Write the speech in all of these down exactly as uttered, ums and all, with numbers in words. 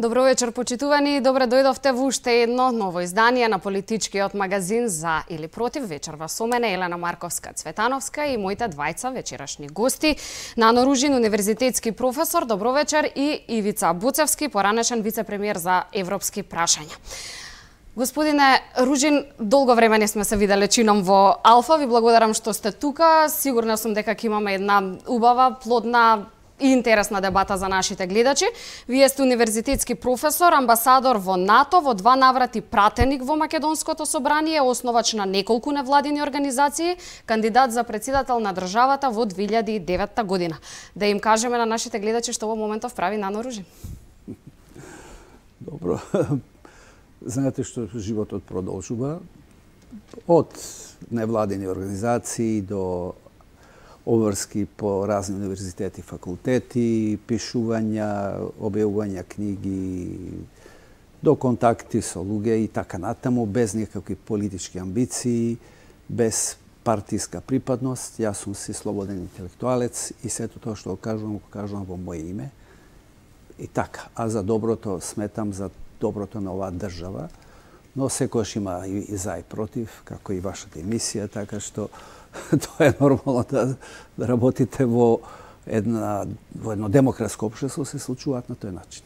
Добро вечер, почитувани. Добре дојдовте во уште едно ново издание на политичкиот магазин За или Против. Вечерва со мене Елена Марковска-Цветановска и моите двајца вечерашни гости. Нано Ружин, универзитетски професор, добро вечер, и Ивица Буцевски, поранешен вице-премиер за европски прашања. Господине Ружин, долго време не сме се виделе чином во Алфа. Ви благодарам што сте тука. Сигурна сум дека ќе имаме една убава, плодна и интересна дебата за нашите гледачи. Вие сте универзитетски професор, амбасадор во НАТО, во два наврати пратеник во Македонското собрание, основач на неколку невладини организации, кандидат за председател на државата во две илјади и девета година. Да им кажеме на нашите гледачи што во моментов прави Нано Ружин. Добро. Знаете што животот продолжува. Од невладини организации до обврски по разни универзитети, факултети, пишувања, објавувања книги, до контакти со луѓе и така натаму, без никакви политички амбиции, без партиска припадност. Јас сум си слободен интелектуалец и сето тоа што го кажувам, го кажувам во моје име. И така, а за доброто сметам за доброто на оваа држава, но секојаш има и за и против, како и вашата емисија, така што тоа е нормално да, да работите во една во едно демократско општество, се случуваат на тој начин.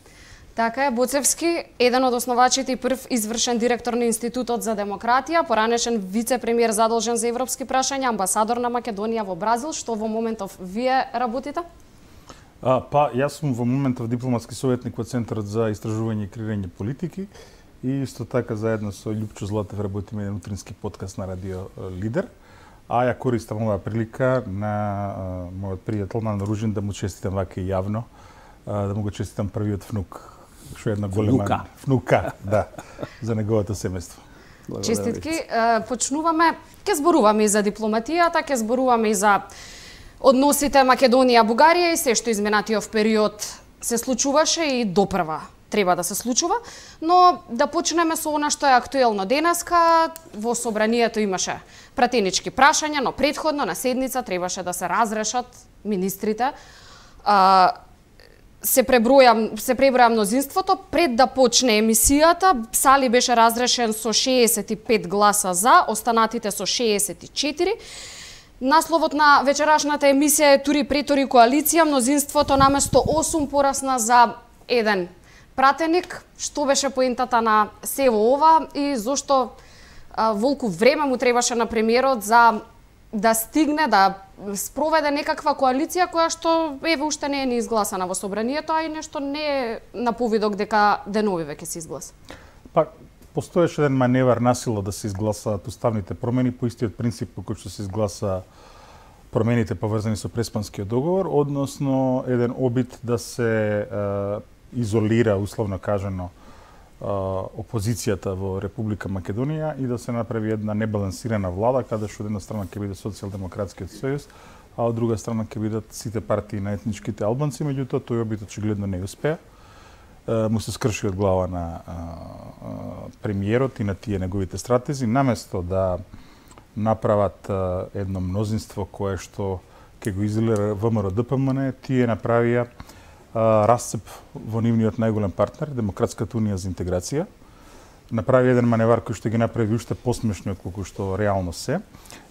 Така е, Буцевски, еден од основачите и прв извршен директор на Институтот за демократија, поранешен вице-премиер задолжен за европски прашања, амбасадор на Македонија во Бразил. Што во моментов вие работите? А, па, јас сум во моментов дипломатски советник во Центарот за истражување и креирање политики и исто така заедно со Љупчо Златев работиме еден утрински подкаст на Радио Лидер. А ја користам оваа прилика на а, мојот пријател Нано Ружин да му честитам вака и јавно, а, да му го честитам првиот внук, што е една голема внука, внука да, за неговото семејство. Честитки. Почнуваме, ќе зборуваме и за дипломатијата, ќе зборуваме и за односите Македонија-Бугарија и се што изминатиот период се случуваше и допрва треба да се случува, но да почнеме со она што е актуелно денеска. Во собранието имаше пратенички прашања, но претходно на седница требаше да се разрешат министрите. А, се преброја се преброја мнозинството пред да почне емисијата. Сали беше разрешен со шеесет и пет гласа за, останатите со шеесет и четири. Насловот на вечерашната емисија е Тури претори коалиција, мнозинството наместо осум порасна за еден пратеник. Што беше поентата на сево ова и зошто а, волку време му требаше на премиерот за да стигне да спроведе некаква коалиција која што еве уште не е ни изгласана во собранието, а и нешто не е на повидок дека денови веќе се изгласа? Па, постоеше еден маневар насила да се изгласаат уставните промени по истиот принцип по кој што се изгласа промените поврзани со Преспанскиот договор, односно еден обид да се е, изолира, условно кажано, опозицијата во Република Македонија и да се направи една небалансирана влада, каде што од една страна ќе биде Социјалдемократскиот сојуз, а од друга страна ќе бидат сите партии на етничките албанци. Меѓутоа, тој обид очигледно не успеа. Му се скрши од глава на премиерот и на тие неговите стратези, наместо да направат едно мнозинство кое што ќе го изолира ВМРО-ДПМН, тие направија расцеп во нивниот најголем партнер, Демократската унија за интеграција. Направи еден маневар кој што ги направи уште посмешни од колку што реално се.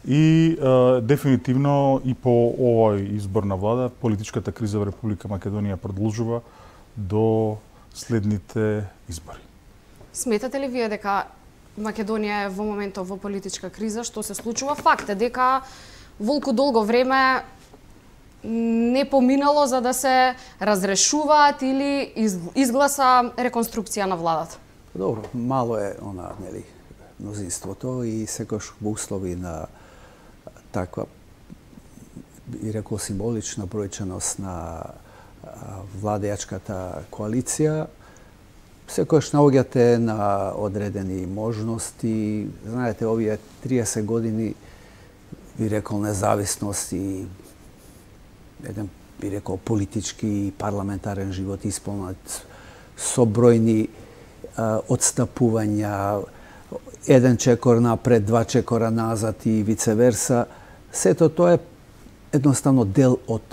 И е, дефинитивно и по овој избор на влада, политичката криза во Република Македонија продолжува до следните избори. Сметате ли вие дека Македонија е во моментов во политичка криза? Што се случува? Факт е дека волку долго време не поминало за да се разрешуваат или изгласа реконструкција на владата? Добро, мало е она, нели, мнозинството и секојаш во услови на таква, би рекол, символична бројченост на владеачката коалиција, секојаш наоѓате на одредени можности. Знаете, овие триесет години, би рекол, независност и еден, би рекол, политички и парламентарен живот исполнат со бројни а, одстапувања, еден чекор напред, два чекора назад и вице-верса. Сето тоа е едноставно дел од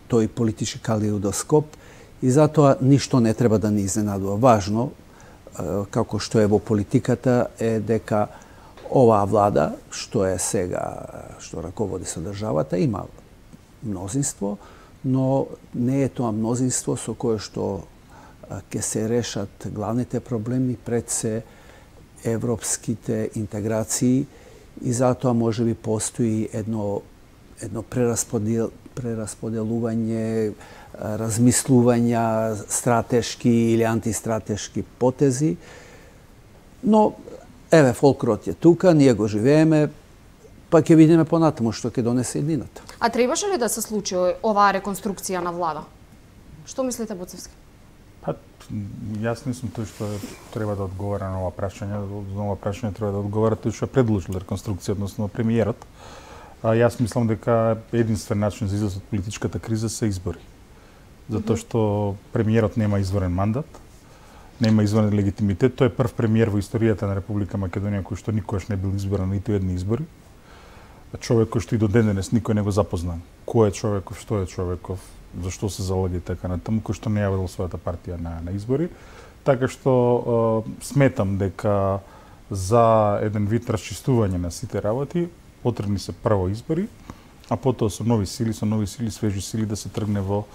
тој политички калеидоскоп И затоа ништо не треба да ни изненадува. Важно, како што е во политиката, е дека оваа влада, што е сега, што раководи со државата, има мнозинство, но не е тоа мнозинство со кое што ќе се решат главните проблеми, пред се европските интеграции, и затоа може би постои едно, едно прерасподел, прерасподелување, размислувања, стратешки или антистратешки потези. Но, еве, фолклорот е тука, ние го живееме, па ќе видиме понатаму што ќе донесе иднината. А требаше ли да се случи оваа реконструкција на влада? Што мислите, Боцевски? Па, јас не сум тој што треба да одговара на ова прашање. На ова прашање треба да одговара тој што предложил реконструкција, односно премиерот. А јас мислам дека единствен начин за излез од политичката криза се избори. Затоа што премиерот нема изворен мандат, нема изворен легитимитет. Тој е прв премиер во историјата на Република Македонија кој што никогаш не бил избран ниту едни избори. Човек кој што и до ден денес никој не го запозна. Кој е човеков, што е човеков, зашто се залага и така натаму, кој што не јавил својата партија на, на избори. Така што е, сметам дека за еден вид расчистување на сите работи потребни се прво избори, а потоа со нови сили, со нови сили, свежи сили да се тргне во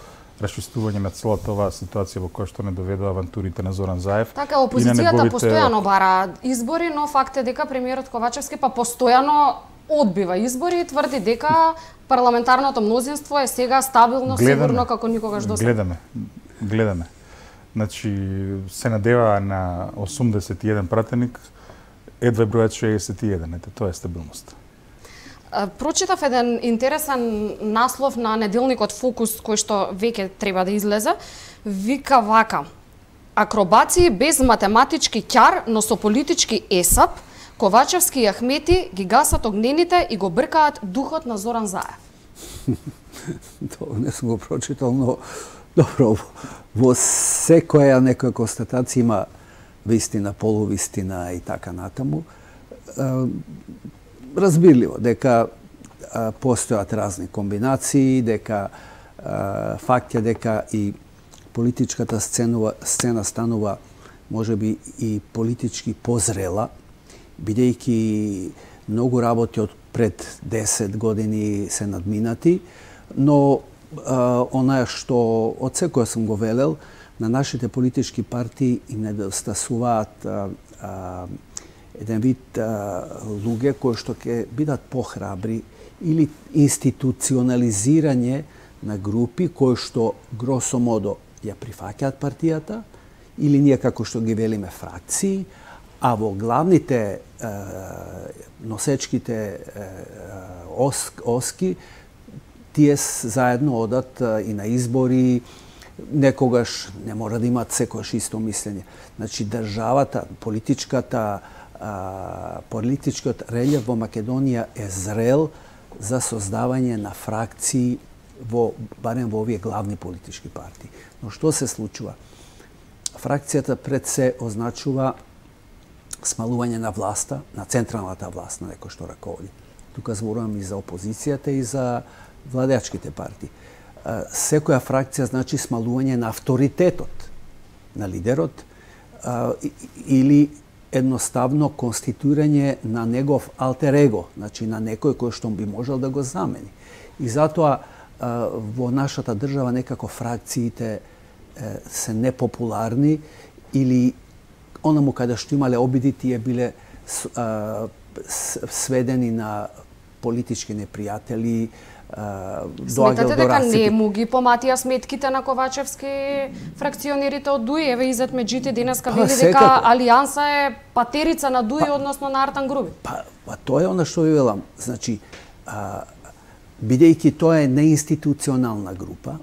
расчистување на целата оваа ситуација во која што не доведува авантурите на Зоран Заев. Така, опозицијата неговите... постојано бара избори, но факт е дека премиерот Ковачевски па постојано одбива избори и тврди дека парламентарното мнозинство е сега стабилно, гледаме, сигурно како никогаш досега. Гледаме, гледаме. Значи, се надева на осумдесет и еден пратеник, едва бројат шеесет и еден, ете, тоа е стабилност. Прочитав еден интересен наслов на неделникот Фокус, кој што веќе треба да излезе. Вика вака: акробации без математички ќар, но со политички есап, Ковачевски и Ахмети ги гасат огнените и го бркаат духот на Зоран Заев. Тоа не сум го прочитал, но добро, во секоја некоја констатација има вистина, полувистина и така натаму. Разбирливо дека постојат разни комбинации, дека факт е дека и политичката сцена, сцена станува можеби и политички позрела, бидејќи многу работи од пред десет години се надминати, но она што од секоја сум го велел, на нашите политички партии им недостасуваат еден вид а, луѓе кои што ќе бидат похрабри или институционализирање на групи кои што гросо модо ја прифаќаат партијата или ние како што ги велиме фракции, а во главните а, носечките а, ос, оски тие заедно одат а, и на избори, некогаш не мора да имаат секојаш исто мислење. Значи државата, политичката А, политичкиот релјеф во Македонија е зрел за создавање на фракции во барем во овие главни политички партии. Но што се случува? Фракцијата пред се означува смалување на власта, на централната власт, на некој што раководи. Тука зборувам и за опозицијата и за владеачките партии. А, секоја фракција значи смалување на авторитетот на лидерот а, или едноставно конституирање на негов алтер его, значи на некој кој што би можел да го замени. И затоа во нашата држава некако фракциите се непопуларни или онаму каде што имале обиди тие биле сведени на политички непријатели. Сметате дека не му ги поматија сметките на Ковачевски фракционерите од ДУИ? Еве Изет Меджити денеска вели дека Алијанса е патерица на ДУИ, па, односно на Артан Груби. Па, па тоа е она што ви велам. Значи, а, бидејќи тоа е неинституционална група,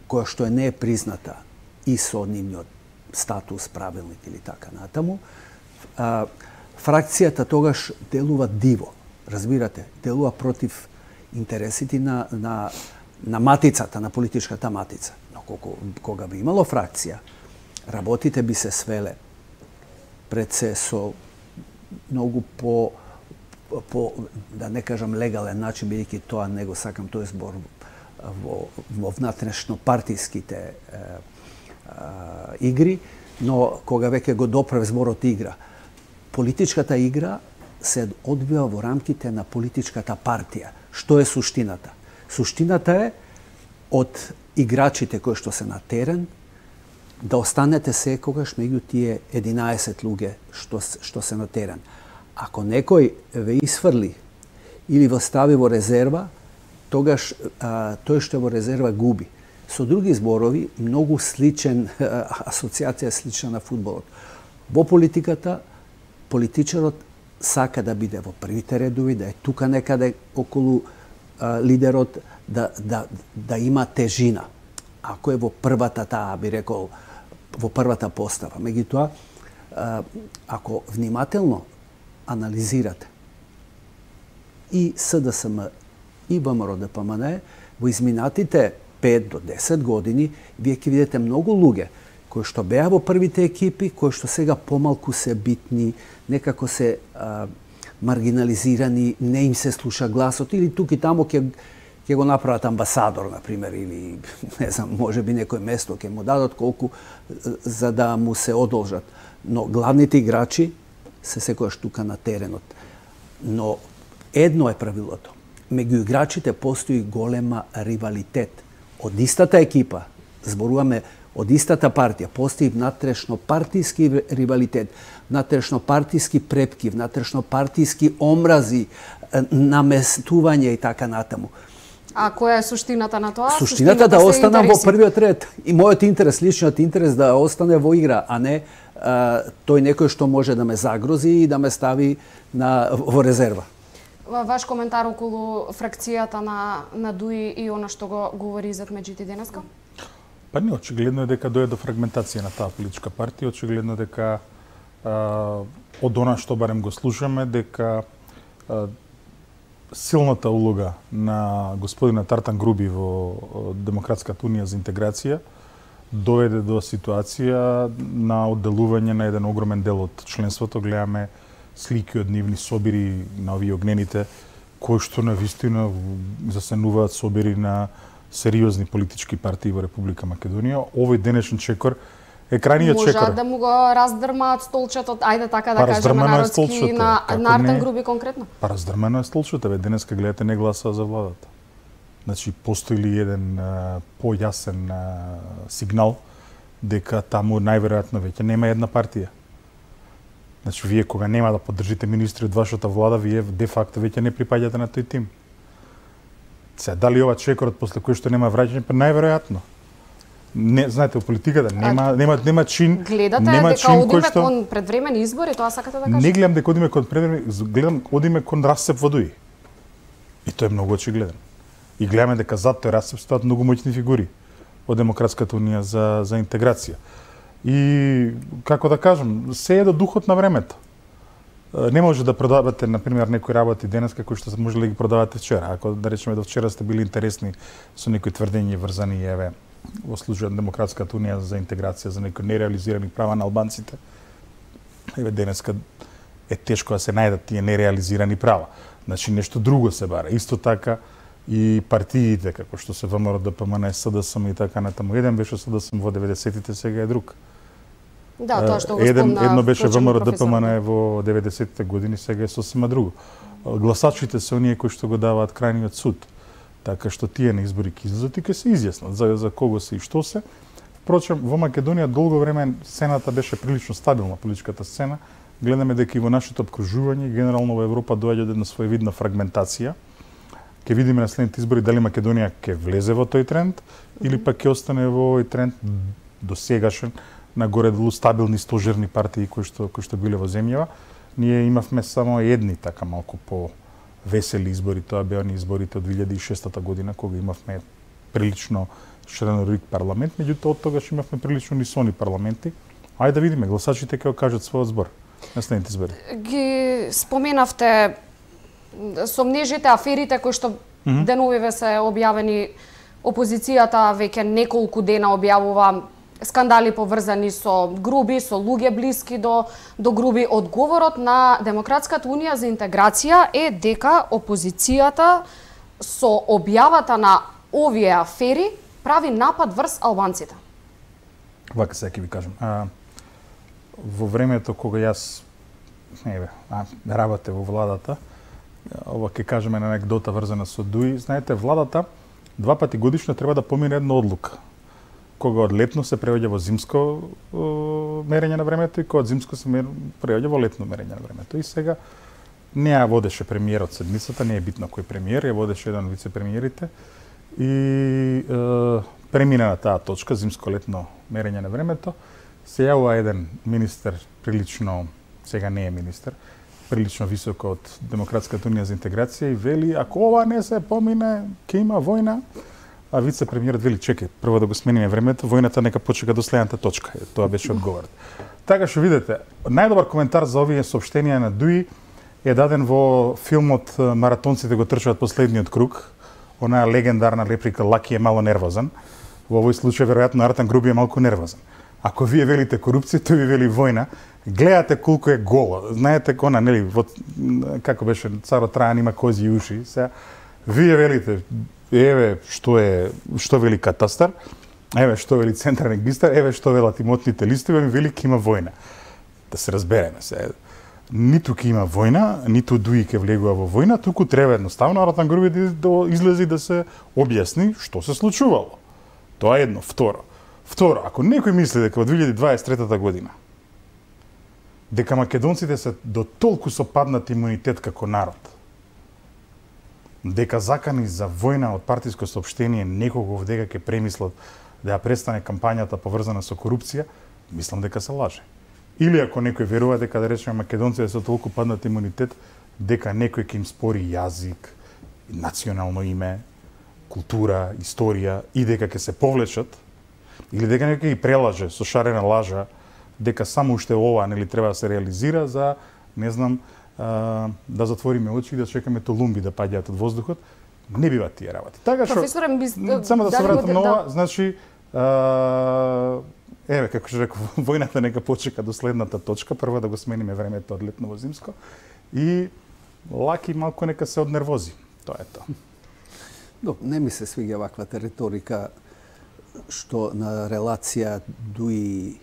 која што е не е призната и со нивниот статус, правилник или така натаму, а, фракцијата тогаш делува диво. Разбирате, делува против интересите на, на, на матицата, на политичката матица. Но колко, кога би имало фракција, работите би се свеле пред се со многу по, по, да не кажам легален начин, бидејќи тоа не го сакам тој збор во, во внатрешно партиските е, а, игри, но кога веќе го допрев зборот игра, политичката игра се одвива во рамките на политичката партија. Што е суштината? Суштината е од играчите кои што се на терен да останете секогаш меѓу тие единаесет луѓе што што се на терен. Ако некој ве исфрли или ве стави во резерва, тогаш а, тој што во резерва губи. Со други зборови, многу сличен асоциација слична на фудбалот. Во политиката политичарот сака да биде во првите редови, да е тука некаде околу а, лидерот, да, да, да има тежина. Ако е во првата таа, би рекол, во првата постава. Меѓутоа, ако внимателно анализирате и СДСМ и ВМРО-ДПМН, во изминатите пет до десет години, вие ќе видите многу луѓе кои што беа во првите екипи, кои што сега помалку се битни, некако се а, маргинализирани, не им се слуша гласот, или тук и тамо ќе ќе го направат амбасадор, например, или, не знам, може би некој место ќе му дадат колку за да му се одолжат. Но главните играчи се секојаш тука на теренот. Но едно е правилото. Меѓу играчите постои голема ривалитет. Од истата екипа, зборуваме од истата партија, постои внатрешно партиски ривалитет, внатрешно партиски препки, внатрешно партиски омрази, наместување и така натаму. А која е суштината на тоа? Суштината, суштината да останам во првиот ред. И мојот интерес, личниот интерес да остане во игра, а не а, тој некој што може да ме загрози и да ме стави на, во резерва. Ваш коментар околу фракцијата на, на ДУИ и она што го говори Изет Меджити денеска? Па не, очигледно е дека дојде до фрагментација на таа политичка партија, очигледно дека а, од она што барем го слушаме, дека а, силната улога на господина Тартан Груби во Демократската унија за интеграција доведе до ситуација на одделување на еден огромен дел од членството. Гледаме слики од нивни собири на овие огнените, кои што навистина засенуваат собири на сериозни политички партии во Република Македонија. Овој денешен чекор е крајниот чекор. Можат да му го раздрмаат столчето, ајде така да па, кажеме народски, на, на Артан Груби конкретно? Па раздрмано е столчето, бе, денеска гледате не гласа за владата. Значи, постои ли еден а, појасен а, сигнал дека таму најверојатно веќе нема една партија. Значи, вие кога нема да поддржите министри од вашата влада, вие де факто веќе не припаѓате на тој тим. Се, дали ова чекорот после кој што нема враќање, па најверојатно. Не, знаете, во политиката нема а, нема нема чин, гледате нема дека чин одиме што... кон предвремени избори, тоа сакате да кажете? Не гледам дека одиме кон предвремени, гледам одиме кон расцеп во ДУИ. И тоа е многу очигледен. И гледаме дека зад тој расцеп стоат многу моќни фигури од Демократската унија за за интеграција. И како да кажам, се е до духот на времето. Не може да продавате, например, некои работи денеска кои што може да ги продавате вчера. Ако да речеме до вчера сте били интересни со некои тврдења врзани еве во случајот на Демократската унија за интеграција за некои нереализирани права на албанците, еве денеска е тешко да се најдат тие нереализирани права. Значи нешто друго се бара. Исто така и партиите како што се ВМРО-ДПМН, СДСМ и така натаму. Еден беше СДСМ во деветдесетите, сега е друг. Да, тоа што го Еден, спомна. Едно беше ВМРО-ДПМН во деветдесетите години, сега е сосема друго. Гласачите се оние кои што го даваат крајниот суд. Така што тие на избори ќе излезат и ќе се изјаснат за, за кого се и што се. Впрочем, во Македонија долго време сцената беше прилично стабилна, политичката сцена. Гледаме дека и во нашето обкружување, генерално во Европа доаѓа една своевидна фрагментација. Ќе видиме на следните избори дали Македонија ќе влезе во тој тренд или пак ќе остане во овој тренд досегашен на горе-долу стабилни стожерни партии кои што кои што биле во земјава. Ние имавме само едни така малку по весели избори, тоа беа они изборите од две илјади и шеста година кога имавме прилично широколик парламент, меѓутоа од тогаш имавме прилично нисони парламенти. Ајде да видиме, гласачите ќе кажат својот збор на следните избори. Ги споменавте сомнежите, аферите кои што mm -hmm. деновиве се објавени. Опозицијата веќе неколку дена објавува скандали поврзани со Груби, со луѓе блиски до до Груби. Одговорот на Демократската унија за интеграција е дека опозицијата со објавата на овие афери прави напад врз албанците. Вака сега ќе ви кажам. А, во времето кога јас не бе, а, работе во владата, ова ќе кажеме на анекдота врзана со Дуи, знаете, владата два пати годишно треба да помине една одлука. Кога од летно се превеѓа во зимско е, мерење на времето и кога од зимско се превеѓа во летно мерење на времето. И сега не ја водеше премиерот седмицата, не е битно кој премиер, ја водеше еден од вице-премиерите и е, премина на таа точка, зимско-летно мерење на времето, се јавува еден министер, прилично, сега не е министер, прилично високо од Демократската унија за интеграција и вели, ако ова не се помине, ќе има војна. А вице-премиерот вели, чекај, прво да го смениме времето, војната нека почека до следната точка. Тоа беше одговорот. Така што видите, најдобар коментар за овие соопштенија на Дуи е даден во филмот Маратонците го трчаат последниот круг. Онаа легендарна реплика Лаки е мало нервозен. Во овој случај веројатно Артан Груби е малку нервозен. Ако вие велите корупција, тој ви вели војна, гледате колку е голо. Знаете кона, нели, во, како беше царот Трајан има кози уши. Сега вие велите еве што е што вели катастар, еве што вели централен регистар, еве што велат имотните листови, ми вели ќе има војна. Да се разбереме се. Ниту ќе има војна, ниту Дуи ќе влегува во војна, туку треба едноставно Артан Груби да, да излезе и да се објасни што се случувало. Тоа е едно. Второ. Второ, ако некој мисли дека во две илјади дваесет и трета година дека македонците се до толку со паднат имунитет како народ, дека закани за војна од партиско соопштение некого дека ќе премислат да ја престане кампањата поврзана со корупција, мислам дека се лаже. Или ако некој верува дека да речеме македонците со толку паднат имунитет, дека некој ќе им спори јазик, национално име, култура, историја и дека ќе се повлечат, или дека некој ги прелаже со шарена лажа дека само уште ова нели треба да се реализира за, не знам, а, да затвориме очи и да чекаме толумби да паѓаат од воздухот, не биваат тие работи. Така што само да се вратам на ова, значи а, еве како што реков, војната нека почека до следната точка, прво да го смениме времето од летно во зимско и Лаки малку нека се однервози. Тоа е тоа. Но, не ми се свиѓа ваквата риторика што на релација Дуи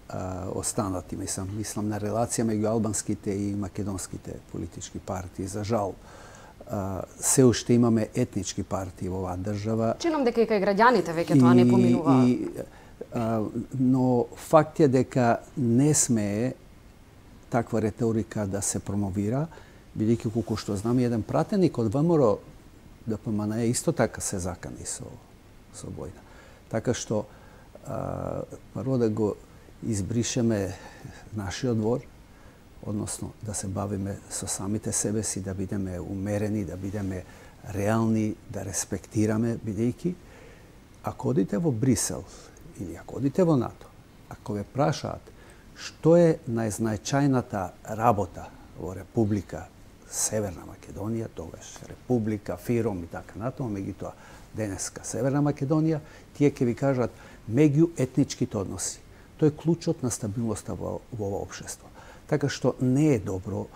а, останати, мислам, мислам на релација меѓу албанските и македонските политички партии. За жал, а, се уште имаме етнички партии во оваа држава. Чинам дека и кај граѓаните веќе тоа не поминува. И, а, но факт е дека не смее таква риторика да се промовира, бидејќи колку што знам, еден пратеник од ВМРО Д П М Н исто така се закани со, со војна. Така што, а, прво да го избришеме нашиот двор, односно да се бавиме со самите себе си, да бидеме умерени, да бидеме реални, да респектираме, бидејќи ако одите во Брисел или ако одите во НАТО, ако ве прашаат што е најзначајната работа во Република Северна Македонија, тогаш Република, Фиром и така натаму, меѓутоа денеска Северна Македонија, тие ќе ви кажат меѓуетничките односи. Тоа е клучот на стабилноста во, во ова општество. Така што не е добро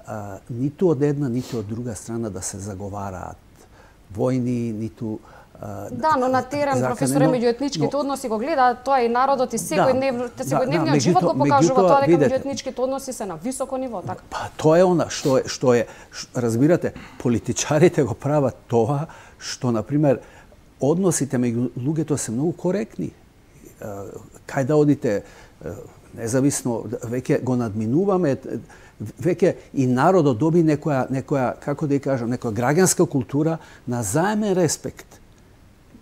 а, ниту од една, ниту од друга страна да се заговараат војни, ниту а, да, но на терен професоре меѓуетничките но... односи го гледа тоа и народот и секојдневно да, секојдневниот да, живот го покажува тоа дека меѓуетничките односи се на високо ниво, така. Па тоа е она што е што е ш, разбирате, политичарите го прават тоа што на пример односите меѓу луѓето се многу коректни. Кај да одите, независно, веќе го надминуваме, веќе и народот доби некоја, некоја, како да ја кажам, некоја граѓанска култура на заемен респект.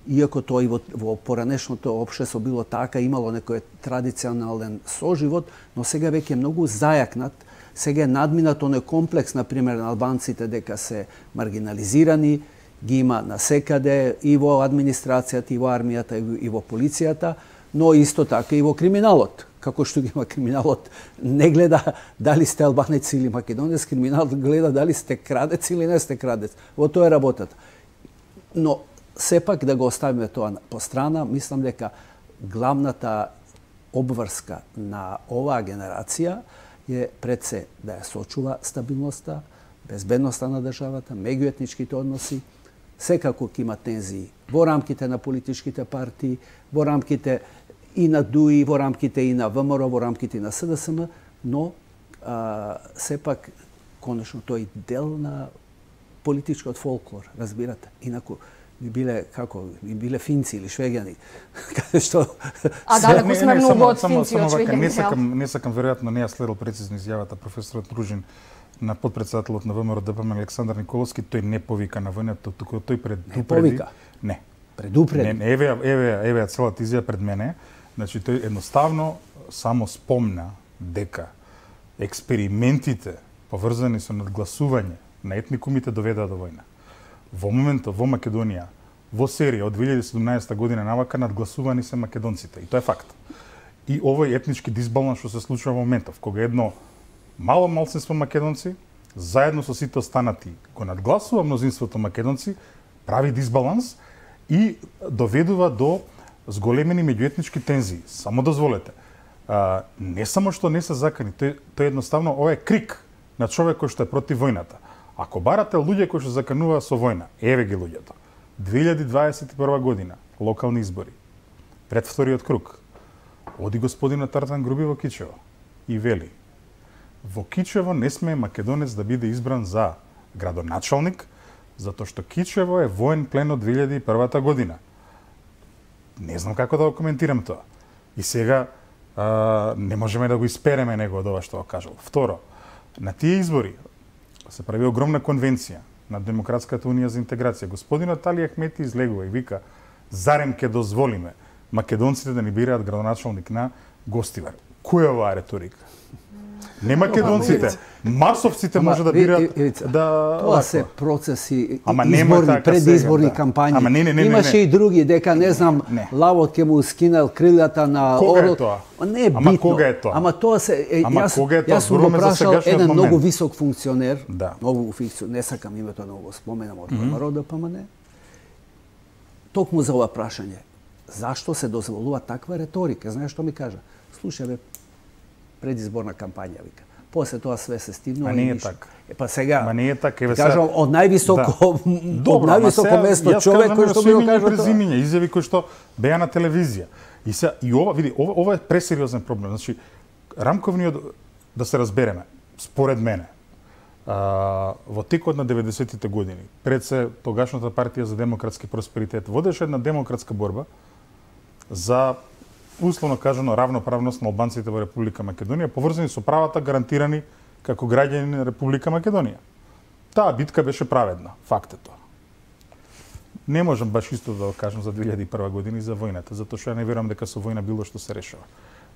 Иако тоа и во, во поранешното општество било така, имало некој традиционален соживот, но сега веќе е многу зајакнат. Сега е надминат оној комплекс, например, на албанците дека се маргинализирани, ги има насекаде и во администрацијата, и во армијата, и во полицијата, но исто така и во криминалот. Како што ги има криминалот, не гледа дали сте албанец или македонец, криминалот гледа дали сте крадец или не сте крадец. Во тоа е работата. Но сепак да го оставиме тоа по страна, мислам дека главната обврска на оваа генерација е пред се да ја сочува стабилноста, безбедноста на државата, меѓуетничките односи, секако ќе има тензии во рамките на политичките партии, во рамките и на ДУИ во рамките и на ВМРО во рамките и на СДСМ, но а, сепак конечно тој дел на политичкиот фолклор, разбирате. Инаку би биле како би биле финци или швеѓани каде што А далеку сме многу од финци од швеѓани. Не сакам не сакам веројатно не ја следел прецизно изјавата професорот Ружин на подпредседателот на ВМРО ДПМН Александар Николовски. Тој не повика на војната, туку тој предупреди. Не повика. Не. Предупреди. Не, еве еве еве целата изјава пред мене. Значи тој едноставно само спомна дека експериментите поврзани со надгласување на етникумите доведаа до војна. Во моментот во Македонија, во серија од две илјади и седумнаесета година навака надгласувани се македонците и тоа е факт. И овој етнички дисбаланс што се случува во моментов, кога едно мало малцинство македонци заедно со сите останати го надгласува мнозинството македонци, прави дисбаланс и доведува до зголемени меѓуетнички тензии. Само дозволете. А, не само што не се закани, тој, тој едноставно ова е крик на човек кој што е против војната. Ако барате луѓе кои што закануваат со војна, еве ги луѓето. две илјади дваесет и прва година, локални избори, пред вториот круг, оди господинот Тартан Груби во Кичево и вели: во Кичево не смее македонец да биде избран за градоначалник, затоа што Кичево е воен плен од две илјади и прва година. Не знам како да го коментирам тоа. И сега а, не можеме да го испереме него од ова што го кажал. Второ, на тие избори се прави огромна конвенција на Демократската унија за интеграција. Господинот Али Ахмети излегува и вика: зарем ке дозволиме македонците да ни бираат градоначалник на Гостивар. Која е оваа риторика? Не македонците, масовците може да бираат да... Тоа се процеси, Ама изборни, така предизборни сега, да. кампањи. Ама не, не, не, Имаше не, не. и други, дека не знам, Не. лавот ќе му скинал крилјата на Кога е орел. тоа? Не е Ама битно. кога е тоа? Ама тоа се е, Ама јас, кога е тоа? јас сум го Зборуваме за прашал сегашниот еден момент. многу висок функционер, Да. многу функционер, не сакам името да го споменам од ВМРО ДПМН. Токму за ова прашање. Зашто се дозволува таква реторика? Знаеш што ми кажа? Слушај бе, предизборна кампања, вика. После тоа све се стивно Ма и не е ништо. така. Е, па сега, Ма не е така, еве кажам, од највисоко, Да. од највисоко место човек кој што ми го кажа тоа. презимиња, изјави кои што беа на телевизија. И се и ова, види, ова, ова е пресериозен проблем. Значи, рамковниот, да се разбереме, според мене, а, во текот на деветдесетите години, пред се тогашната партија за демократски просперитет водеше една демократска борба за, условно кажано, равноправност на албанците во Република Македонија, поврзани со правата гарантирани како граѓани на Република Македонија. Таа битка беше праведна, факт е тоа. Не можам баш исто да го кажам за две илјади и прва година и за војната, затоа што ја не верувам дека со војна било што се решава.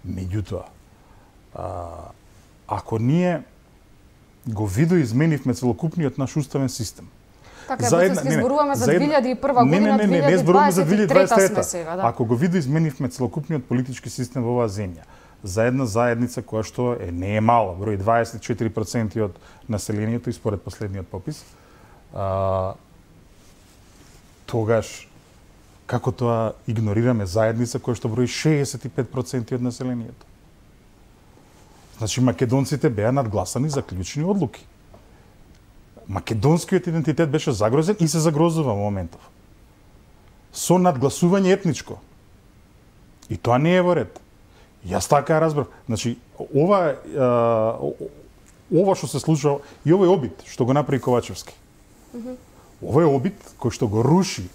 Меѓутоа, а, ако ние го видоизменивме целокупниот наш уставен систем, Така, за ќе зборуваме за две илјади и прва година, не, не, не, не зборуваме за две илјади и дваесет и трета. сме сега, да. Ако го видоизменивме целокупниот политички систем во оваа земја, за една заедница која што е не е мала, број дваесет и четири проценти од населението и според последниот попис, а, тогаш како тоа игнорираме заедница која што брои шеесет и пет проценти од населението? Значи македонците беа надгласани за клучни одлуки. Македонскиот идентитет беше загрозен и се загрозува во моментов. Со надгласување етничко. И тоа не е во ред. Јас така ја разбрав. Значи, ова, а, ова што се случува, и овој обид што го направи Ковачевски. Mm-hmm. Ова е обид кој што го руши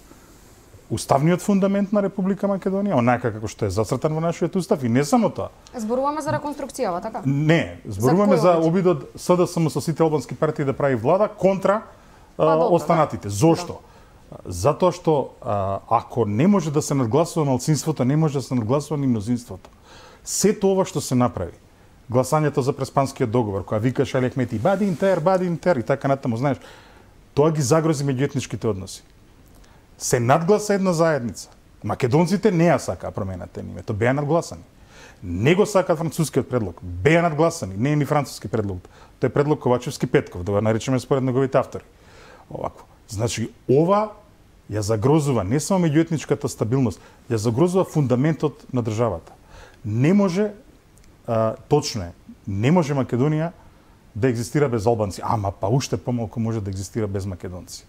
уставниот фундамент на Република Македонија, онака како што е зацртан во нашиот устав, и не само тоа. Зборуваме за реконструкцијава, така? Не, зборуваме за, за обидот СДСМ со сите албански партии да прави влада контра па, а, добро, останатите. Да. Зошто? Да. Затоа што а, ако не може да се надгласува малцинството, не може да се надгласува ни мнозинството. Сето ова што се направи, гласањето за Преспанскиот договор, која викаш Али Ахмети, бади интер, бади интер и така натаму, знаеш, тоа ги загрози меѓуетничките односи. Се надгласа една заедница. Македонците не ја сакаа промената на името, беа надгласани. Не го сакаат францускиот предлог, беа надгласани, не е ни француски предлог. Тој е предлог Ковачевски Петков, да го наречеме според неговите автори. Овако. Значи, ова ја загрозува не само меѓуетничката стабилност, ја загрозува фундаментот на државата. Не може, а, точно е, не може Македонија да екзистира без албанци, ама па уште помалку може да екзистира без македонци.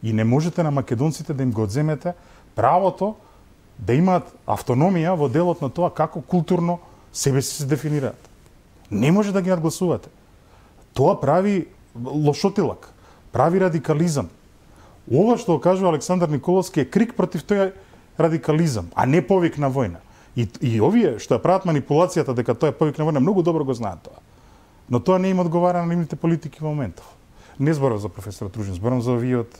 И не можете на македонците да им го одземете правото да имаат автономија во делот на тоа како културно себе си се дефинираат. Не може да ги надгласувате. Тоа прави лошотилак, прави радикализам. Ова што кажува Александар Николовски е крик против тој радикализам, а не повик на војна. И, и овие што ја прават манипулацијата дека тоа е повик на војна, многу добро го знаат тоа. Но тоа не им одговара на нивните политики во моментов. Не зборам за професор Тружин, зборам за овие од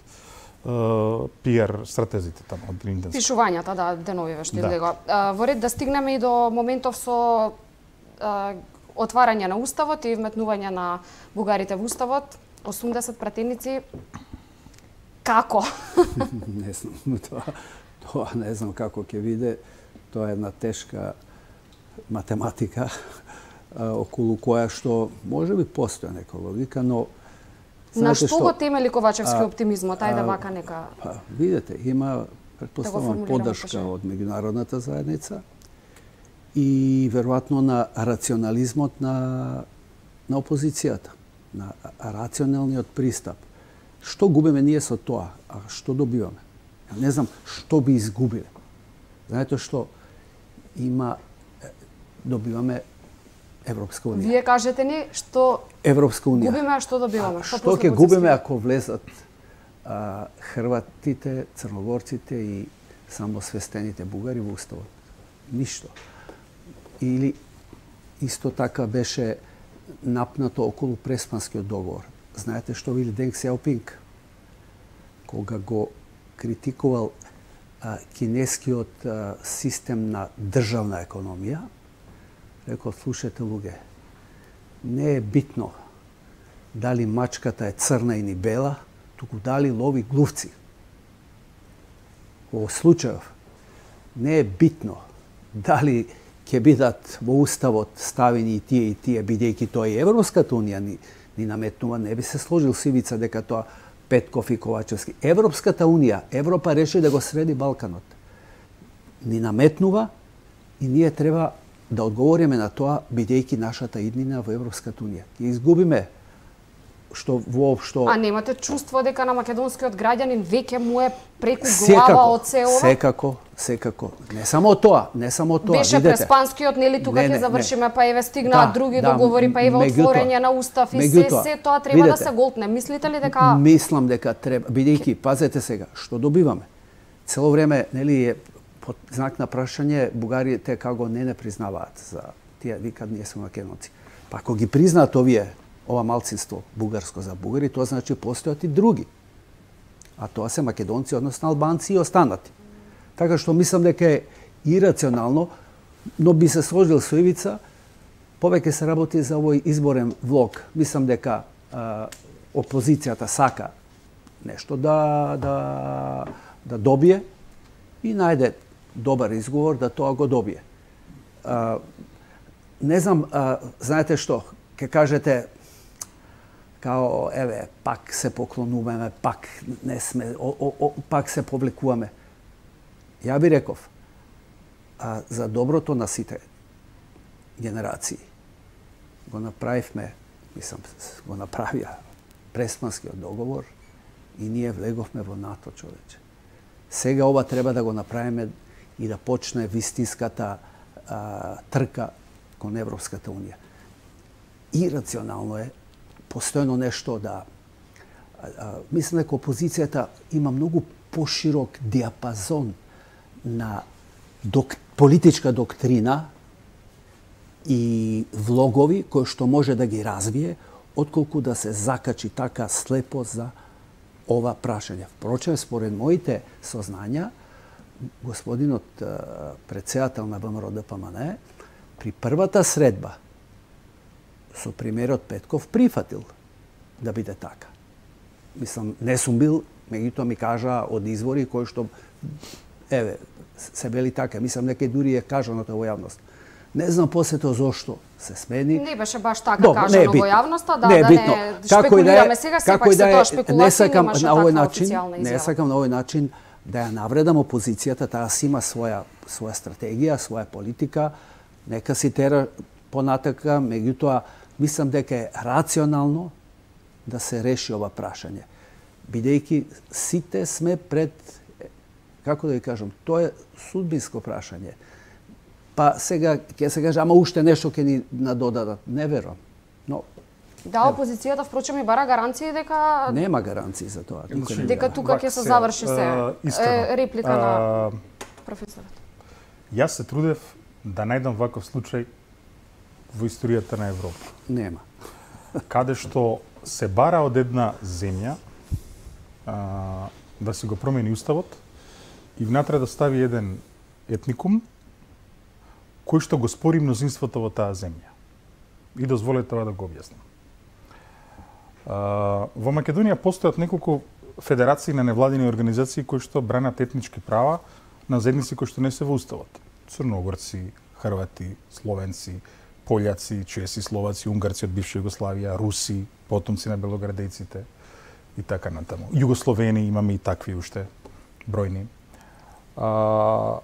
пиар стратезите таму од Линденс. Пишувањата, да, деновиве што Да. излегоа. А, Во ред да стигнеме и до моментов со а, отварање на уставот и вметнување на бугарите во уставот, осумдесет пратеници. Како? Не знам, тоа, тоа не знам како ќе биде. Тоа е една тешка математика а, околу која што може би постоја нека логика, но На знаете што го темели Ковачевски а, оптимизмот? Ајде а, вака нека... Па, видете, има, предпоставам, формулираме поддршка прашање. од меѓународната заедница и веројатно на рационализмот на, на опозицијата, на рационалниот пристап. Што губиме ние со тоа, а што добиваме? Ја не знам што би изгубиле. Знаете што? Има, добиваме Европска унија. Вие кажете ни што Европска унија. губиме, а што добиваме? Што плюс ќе го губиме подсистиме? ако влезат а, хрватите, црногорците и самосвестените бугари во уставот? Ништо. Или исто така беше напнато околу Преспанскиот договор. Знаете што вели Денг Сяопинг? Кога го критикувал а, кинескиот а, систем на државна економија, рекол, слушате луѓе, не е битно дали мачката е црна или бела, туку дали лови глувци. Во случајов не е битно дали ќе бидат во уставот ставени и тие и тие, бидејќи тоа и Европската унија ни, ни наметнува, не би се сложил Сивица дека тоа Петков и Ковачевски. Европската унија, Европа реши да го среди Балканот. Ни наметнува и ние треба да одговориме на тоа, бидејќи нашата иднина во Европската унија. Ќе изгубиме што воопшто... А немате чувство дека на македонскиот граѓанин веќе му е преку глава од се ова? Секако, секако. Не само тоа, не само тоа. Беше видете. Преспанскиот, нели тука Не, ќе не, завршиме, не. па еве стигнаат Да, други да, договори, па еве меѓутоа- отворење на устав и се, меѓутоа, се тоа треба да видете, се голтне. Мислите ли дека... Мислам дека треба, бидејќи, пазете сега, што добиваме? Цело време, нели, е под знак на прашање, бугарите како не не признаваат за тие, викат ние сме македонци. Па ако ги признаат овие, ова малцинство бугарско за бугари, тоа значи постојат и други. А тоа се македонци, односно албанци и останати. Така што мислам дека е ирационално, но би се сложил со Ивица, повеќе се работи за овој изборен влог. Мислам дека а, опозицијата сака нешто да, да, да добие и најде добар изговор да тоа го добие. А, не знам, а, знаете што, ке кажете као, еве, пак се поклонуваме, пак не сме, о, о, о, пак се повлекуваме. Ја би реков, а, за доброто на сите генерации го направивме, мислам, го направија Преспанскиот договор и ние влеговме во НАТО, човече. Сега ова треба да го направиме и да почне вистинската а, трка кон Европската унија. Ирационално е постојано нешто да... А, а, мислам дека опозицијата има многу поширок диапазон на док, политичка доктрина и влогови кои што може да ги развие, отколку да се закачи така слепо за ова прашање. Впрочем, според моите сознања, господинот председател на ВМРО-ДПМН при првата средба со премиерот Петков прифатил да биде така. Мислам, не сум бил, меѓутоа ми кажа од извори кои што, еве, се бели така. Мислам, дека дури е кажано тоа во јавност. Не знам после тоа зошто се смени. Не беше баш така Добро, кажано во јавноста, да, не е да битно. не Како и да шпекулираме е, сега, како сепак и да се е, тоа не шпекулација, сакам немаше на овој таква начин, официјална не изјава. сакам на овој начин да ја навредам опозицијата, таа си има своја своја стратегија, своја политика, нека си тера понатака, меѓутоа мислам дека е рационално да се реши ова прашање. Бидејќи сите сме пред, Како да ви кажам, тоа е судбинско прашање. Па сега ќе се каже, ама уште нешто ќе ни надодадат. Не верувам. Но да, опозицијата впрочем и бара гаранции дека нема гаранции за тоа. Дека тука ќе се заврши се. Е, реплика на професорот. Јас се трудев да најдам ваков случај во историјата на Европа. Нема. Каде што се бара од една земја а, да си го промени уставот и внатре да стави еден етникум кој што го спори мнозинството во таа земја. И дозволете тоа да го објаснам. А, во Македонија постојат неколку федерации на невладини организации кои што бранат етнички права на заедници кои што не се во уставот. Црногорци, хрвати, словенци, пољаци, чеси, словаци, унгарци од бивша Југославија, руси, потомци на белоградејците и така натаму. Југословени имаме и такви уште бројни. А,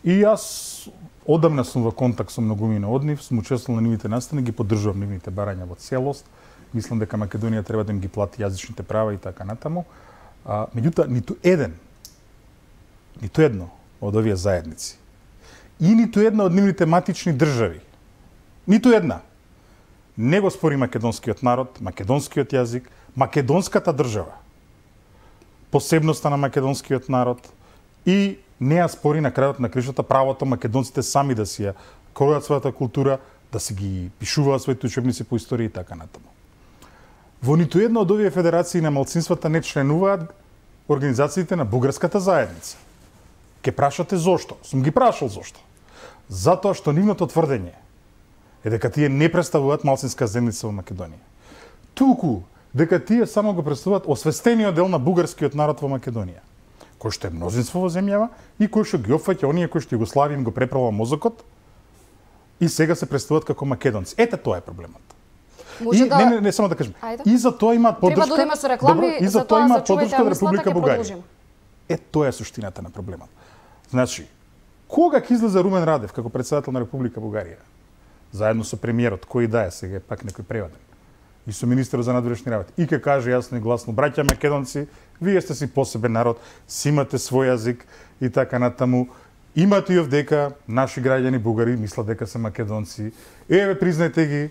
и јас одамна сум во контакт со многумина од нив, сум учествувал на нивните настани, ги поддржувам нивните барања во целост. Мислам дека Македонија треба да им ги плати јазичните права и така натаму. А, меѓутоа, ниту еден, ниту едно од овие заедници и ниту една од нивните матични држави, ниту една, не го спори македонскиот народ, македонскиот јазик, македонската држава, посебноста на македонскиот народ и не ја спори на крајот на кришата правото македонците сами да си ја кројат својата култура, да си ги пишуваат своите учебници по историја и така натаму. Во ниту една од овие федерации на малцинствата не членуваат организациите на бугарската заедница. Ке прашате зошто? Сум ги прашал зошто. Затоа што нивното тврдење е дека тие не представуваат малцинска заедница во Македонија. Туку дека тие само го представуваат освестениот дел на бугарскиот народ во Македонија, кој што е мнозинство во земјава и кој што ги опфаќа оние кои што Југославија им го преправа мозокот и сега се представуваат како македонци. Ете тоа е проблемот. Може и, да... Не, не, не, само да кажем. Ајде. И за тоа имаат поддршка. Треба да одиме со реклами, добро, и за тоа имаат поддршка од Република Бугарија. Е, тоа е суштината на проблемот. Значи, кога ќе излезе Румен Радев како претседател на Република Бугарија, заедно со премиерот, кој да е сега пак некој преваден, и со министерот за надворешни работи, и ќе каже јасно и гласно: браќа македонци, вие сте си посебен народ, си имате свој јазик и така натаму. Имате и овдека наши граѓани бугари мислат дека се македонци. Еве, признајте ги,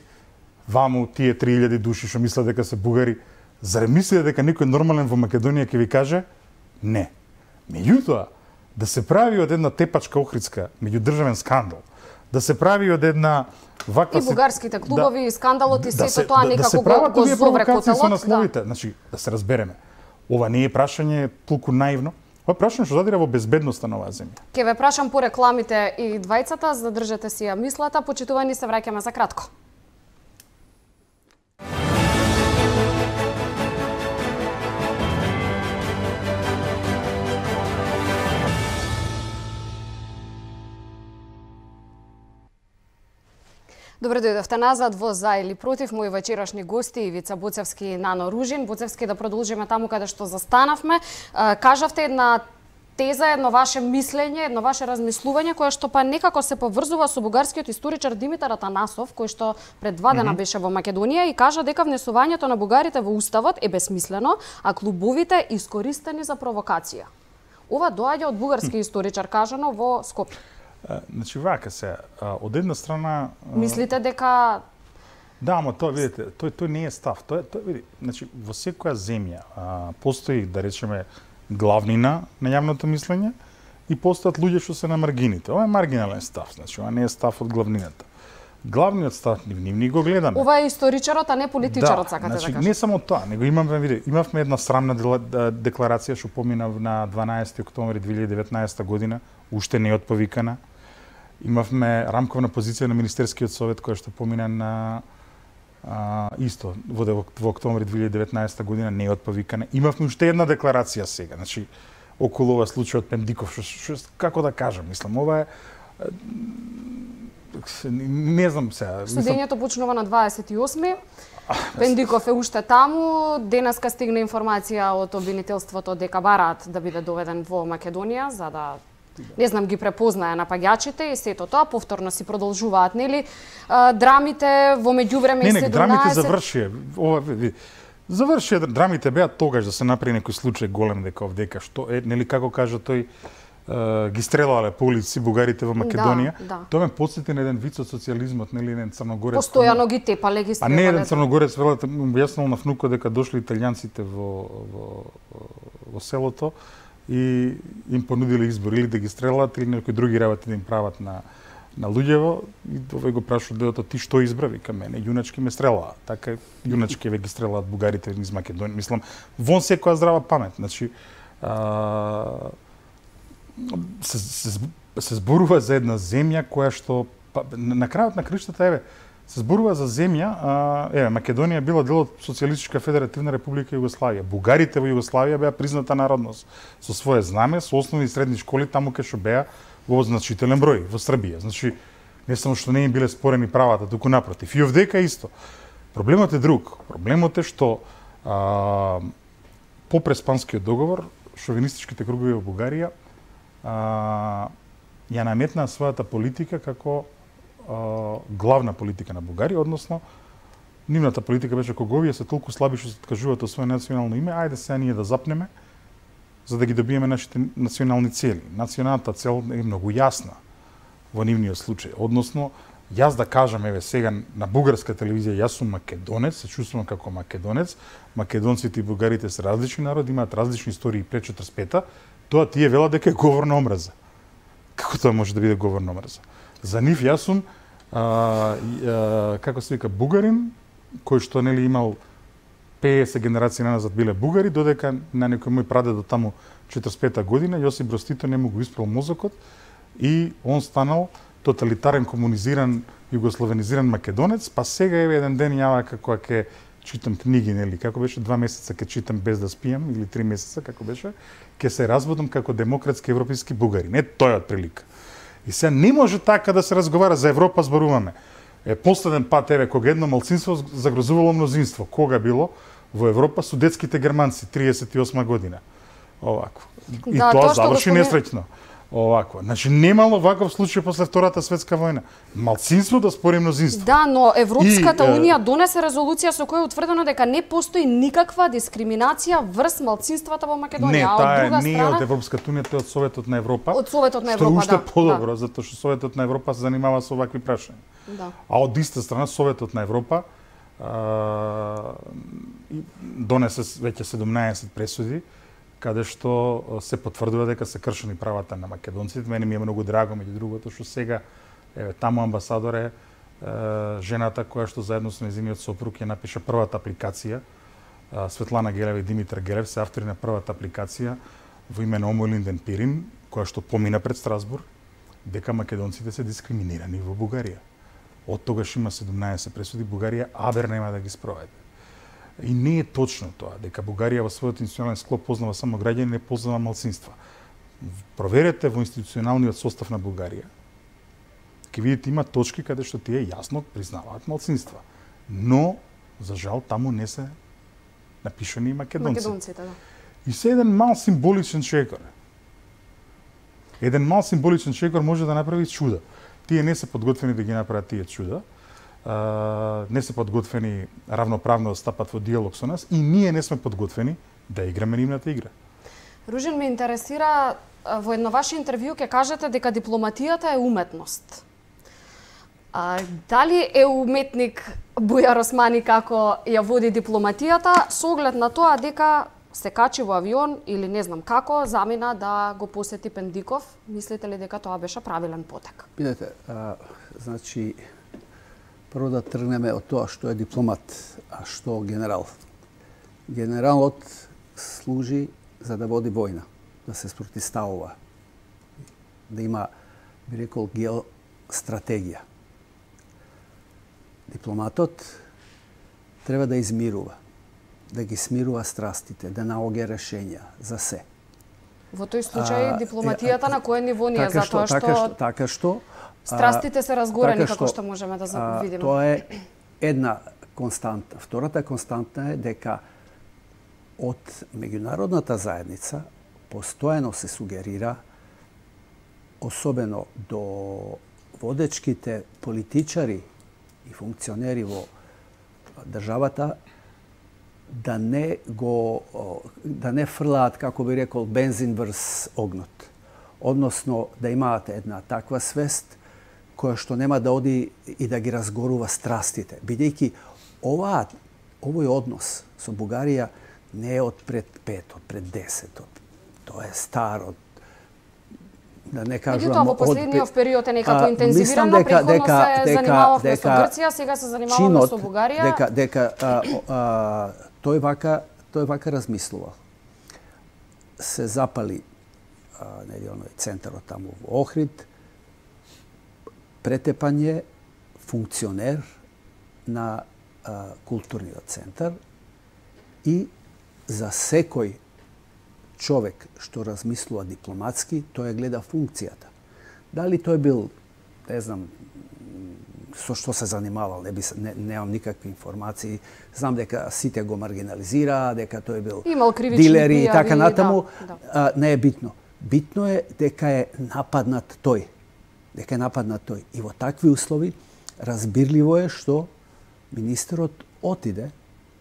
ваму тие три илјади души што мислат дека се бугари. Зарем мислите дека некој нормален во Македонија ќе ви каже? Не. Меѓутоа, да се прави од една тепачка охридска меѓудржавен скандал, да се прави од една ваква... И бугарските клубови, да, и скандалот и да сето тоа да, некако да го, го зовре котелот. Со насловите. Да. Значи, да се разбереме. Ова не е прашање толку наивно. Ова е прашање што задира во безбедноста на оваа земја. Ке ве прашам по рекламите и двајцата, задржете си ја мислата. Почитувани, се враќаме за кратко. Добре дојдовте назад во За или против. Мои вечерашни гости Ивица Боцевски и Нано Ружин. Боцевски, да продолжиме таму каде што застанавме. Кажавте една теза, едно ваше мислење, едно ваше размислување, кое што па некако се поврзува со бугарскиот историчар Димитар Атанасов, кој што пред два дена беше во Македонија и кажа дека внесувањето на бугарите во уставот е бесмислено, а клубовите искористени за провокација. Ова доаѓа од бугарски историчар кажано во Скопје. Значи, вака се, од една страна... Мислите дека... Да, ама тоа, видите, тој, тој не е став. Тој, тој, види, значи, во секоја земја а, постои, да речеме, главнина на јавното мислење и постојат луѓе што се на маргините. Ова е маргинален став, значи, ова не е став од главнината. Главниот став, нив ни го гледаме. Ова е историчарот, а не политичарот, да, сакате значи, да кажете. Не само тоа, него имаме, види, имавме една срамна декларација што помина на дванаесети октомври две илјади и деветнаесета година, уште не е отповикана. Имавме рамковна позиција на Министерскиот совет која што помина на а, исто во, во октомври две илјади и деветнаесета година, не е отповикана. Имавме уште една декларација сега, значи околу ова случај од Пендиков, што, што како да кажам, мислам, ова е не знам сега. Судењето почнува на дваесет и осми. Пендиков е уште таму. Денеска стигна информација од обвинителството дека бараат да биде доведен во Македонија за да не знам ги препознае напаѓачите и сето тоа повторно си продолжуваат, нели? Драмите во меѓувреме не, не, седумнаесет драмите завршија. Ова ви завршија, драмите беа тогаш да се направи некој случај голем дека овдека што е, нели како кажа тој ги стрелале по улици бугарите во Македонија. Да, да. Тоа ме потсети на еден виц од социјализмот, нели, еден црногорец. Постојано ги тепале, ги стрелале. А не еден црногорец велате му објаснал на внукот дека дошли италијанците во во во селото и им понудиле избор или да ги стрелат или некои други работи да им прават на на луѓево, и овој го прашува дедото: ти што избра? Вика: мене јуначки ме стрелаа. Така јуначки ве ги стрелаат бугарите низ Македонија. Мислам, вон секоја здрава памет. Значи, а, се, се, се зборува за една земја која што па, на крајот на крштата, еве, се зборува за земја, а, еве, Македонија била дел од Социјалистичка федеративна република Југославија. Бугарите во Југославија беа призната народност со свое знаме, со основни и средни школи таму кај што беа во значителен број во Србија. Значи, не само што не им биле спорени правата, туку напротив. И овдека исто. Проблемот е друг. Проблемот е што а, по Преспанскиот договор шовинистичките кругови во Бугарија а, ја наметнаа својата политика како а, главна политика на Бугарија, односно нивната политика беше кога овие се толку слаби што се откажуваат од своје национално име, ајде сега ние да запнеме за да ги добиеме нашите национални цели. Националната цел е многу јасна во нивниот случај. Односно, јас да кажам, еве сега на бугарска телевизија, јас сум македонец, се чувствувам како македонец, македонците и бугарите се различни народи, имаат различни истории пред четиридесет и пета, тоа тие велат дека е говор на омраза. Како тоа може да биде говор на омраза? За нив јас сум, а, а, како се вика, бугарин, кој што нели имал петдесет генерации назад биле бугари, додека на некој мој прадедо таму четиридесет и пета година Јосип Брз Тито не му го испрал мозокот и он станал тоталитарен, комунизиран, југословенизиран македонец, па сега еве еден ден јава како ќе читам книги, нели, како беше два месеца ќе читам без да спијам или три месеца како беше, ќе се разбудам како демократски европиски бугарин. Е, тоа е отприлика. И сега не може така да се разговара за Европа, зборуваме. Е, последен пат, еве, кога едно малцинство загрозувало мнозинство, кога било во Европа, судетските германци, триесет и осма година. Овако. И да, тоа тоа заврши господин... несреќно. Овако. Значи, немало ваков случај после Втората светска војна. Малцинство да спори мнозинство. Да, но Европската и, унија донесе резолуција со која е утврдено дека не постои никаква дискриминација врз малцинствата во Македонија. Не, а од таа друга не страна... од Европската унија, тоа од Советот на Европа. Од Советот на што Европа, уште да. подобро, да. затоа што Советот на Европа се занимава со овакви прашања. Да. А од иста страна Советот на Европа а, донесе веќе седумнаесет пресуди каде што се потврдува дека се кршени правата на македонците. Мене ми е многу драго, меѓу другото, што сега еве таму амбасадор е, е жената која што заедно со нејзиниот сопруг ја напиша првата апликација. Светлана Гелева и Димитар Гелев се автори на првата апликација во име на Омо Линден Пирин, која што помина пред Страсбург дека македонците се дискриминирани во Бугарија. Од тогаш има седумнаесет пресуди, Бугарија абер нема да ги спроведе. И не е точно тоа, дека Бугарија во својот институционален склоп познава само граѓани, не познава малцинства. Проверете во институционалниот состав на Бугарија, ќе видите има точки каде што тие јасно признаваат малцинства. Но, за жал, таму не се напишани македонци. Македонците, да. И се еден мал символичен шекор. Еден мал символичен шекор може да направи чуда. Тие не се подготвени да ги направат тие чуда. Uh, не се подготвени равноправно да стапат во диалог со нас и ние не сме подготвени да играме нивната игра. Ружен, ме интересира, во едно ваше интервју ќе кажете дека дипломатијата е уметност. А, дали е уметник Бујар Османи како ја води дипломатијата, со оглед на тоа дека се качи во авион или не знам како, замина да го посети Пендиков, мислите ли дека тоа беше правилен потек? Видете, а, значи, прво да тргнеме од тоа што е дипломат, а што генерал. Генералот служи за да води војна, да се спротивставува, да има, би рекол, геостратегија. Дипломатот треба да измирува, да ги смирува страстите, да наоѓа решења за се. Во тој случај дипломатијата на кое ниво ние, така затоа што, така што, така што страстите се разгорени, така како што можеме да а, видиме. Тоа е една константа. Втората константа е дека од меѓународната заедница постојано се сугерира, особено до водечките политичари и функционери во државата, да не го да не фрлаат, како би рекол, бензин врз огнот. односно да имаат една таква свест која што нема да оди и да ги разгорува страстите. Бидејќи ова, овој однос со Бугарија не е од пред пет, од пред десет, од, тоа е стар, од да не кажувам... Меѓутоа, во последниот период е некако интензивирано, дека, претходно дека, се дека, занимававме дека, со Грција, сега се занимаваме со Бугарија. Дека, дека а, а, тој вака, тој вака размислувал. Се запали а, нели, оној центарот таму во Охрид, претепање функционер на а, културниот центар и за секој човек што размислува дипломатски, тој гледа функцијата. Дали тој бил, не знам, со што се занимавал, не, би, не немам никакви информации. Знам дека сите го маргинализираа, дека тој бил дилери и така натаму. Да, да. А, не е битно. Битно е дека е нападнат тој. Дека е нападнат тој. И во такви услови разбирливо е што министерот отиде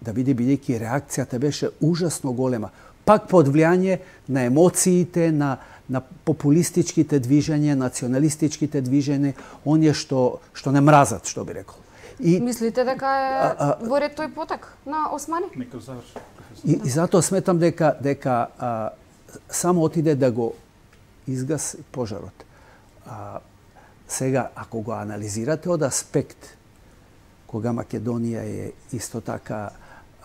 да биде, бидејќи реакцијата беше ужасно голема. Пак под влијание на емоциите, на, на популистичките движења, националистичките движења, оние што, што не мразат, што би рекол. И, мислите дека е а, а, во ред тој потек на Османи? Нека заврши. И, и затоа сметам дека, дека а, само отиде да го изгаси пожарот. А, сега, ако го анализирате од аспект, кога Македонија е исто така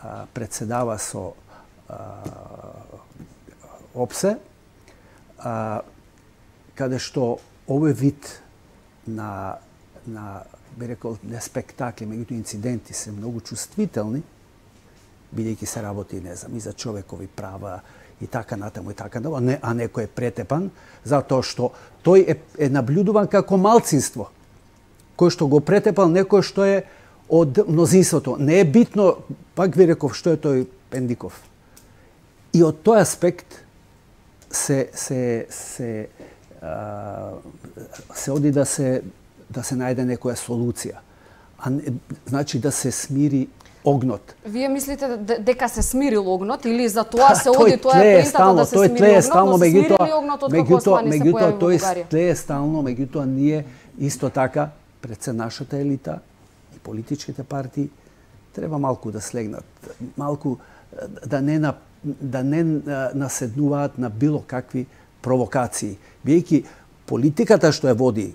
а, председава со ОПСЕ, а, каде што овој вид на, на би рекол, не спектакли, меѓутоа инциденти се многу чувствителни, бидејќи се работи, не знам, и за човекови права и така натаму и така натаму, не, а некој е претепан, затоа што тој е, е наблюдуван како малцинство, кој што го претепал некој што е од мнозинството. Не е битно, пак ви реков, што е тој Пендиков. И од тој аспект се се се а, се оди да се да се најде некоја солуција. А не, значи да се смири огнот. Вие мислите дека се смирил огнот или за тоа се оди, тоа е поентата да се тој смири огнот, стално, но се меѓутоа, смирили огнот од како Османи се појави во Бугарија? Тој тлее стално, меѓутоа ние исто така пред се нашата елита и политичките партии треба малку да слегнат, малку да не на да не наседнуваат на било какви провокации. Бијќи политиката што ја води